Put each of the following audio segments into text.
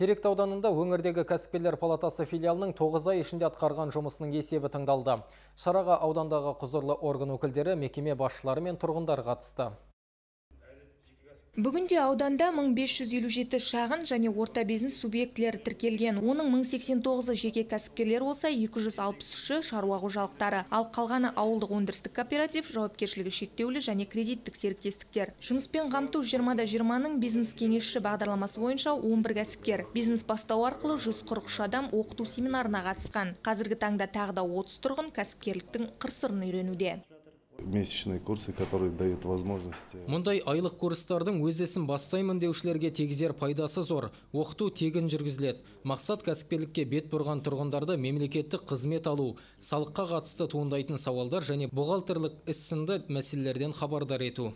Теректі ауданында өңірдегі кәсіпкерлер палатасы филиалының 9 ай ішінде атқарған жұмысының есебі тыңдалды. Шараға аудандағы құзырлы орган өкілдері, мекеме басшылары мен тұрғындар қатысты. Бүгінде ауданда 1557 шағын және орта бизнес субъектілері тіркелген. Оның 1089 жеке кәсіпкерлер болса, 263 шаруа қожалықтары, ал қалғаны ауылдық өндірістік кооператив, жауапкершілігі шектеулі және кредиттік серіктестіктер. Жұмыспен қамту 20-20-ның бизнес кеңесші бағдарламасы бойынша 11 кәсіпкер бизнес бастау арқылы 143 адам оқыту семинарына қатысқан. Қазіргі таңда тағы да 30 тұрғын кәсіпкерліктің қыр-сырын үйренуде. Месячные курсы, которые дают возможность. Мұндай айлық курстардың өз ісін бастаймын деушілерге тегізер пайдасы зор. Оқыту тегін жүргізіледі. Мақсат кәсіпкерлікке бет бұрған тұрғындарды мемлекеттік қызмет алу, салыққа қатысты туындайтын сауалдар және бухгалтерлік іс сынды мәселелерден хабардар ету.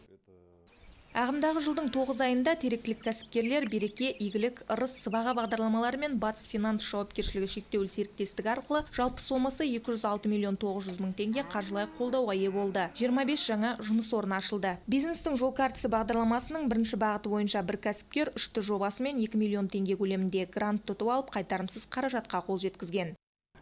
Ағымдағы жылдың 9 айында теректілік кәсіпкерлер береке, игілік, ырыс, сыбаға бағдарламалары мен Батыс финанс жауапкершілігі шектеулі серіктестік арқылы жалпы сомасы 206 миллион 900 мың теңге қаржылай қолдауға ие болды. 25 жаңа жұмыс орны ашылды. Бизнестің жол картасы бағдарламасының бірінші бағыты бойынша бір кәсіпкер 3 жобасымен 2 миллион теңге көлемінде грант тұтып алып, қайтарымсыз қаражатқа қол жеткізген.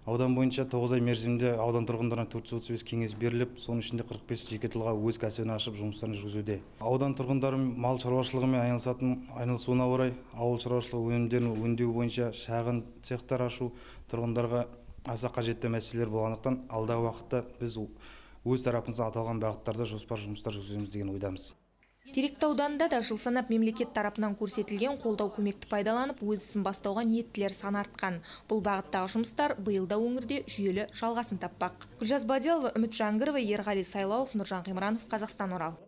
Аудан бойынша 9 ай мерзімде аудан тұрғындарына 435 кеңес беріліп, соның ішінде 45 жеке тұлға өз кәсібін ашып жұмыстарын жүргізуде. Аудан тұрғындары мал шаруашылығымен айналысуына орай ауыл шаруашылығы өнімдерін өңдеу бойынша шағын цехтар ашу тұрғындарға аса қажетті мәселелер болғандықтан, алдағы уақытта біз өз тарапымыздан аталған бағыттарда жоспар жұмыстар жүргіземіз деген ойдамыз. Теректі ауданында да жыл санап мемлекет тарапынан көрсетілген қолдау көмекті пайдаланып, өз ісін бастауға ниеттілер саны артқан. Бұл бағыттағы жұмыстар биылда өңірде жүйелі жалғасын таппақ. Гүлжаз Бадиялова, Үміт Жаңғырова, Ерғали Сайлауов, Нұржан Ғимранов, Қазақстан Орал.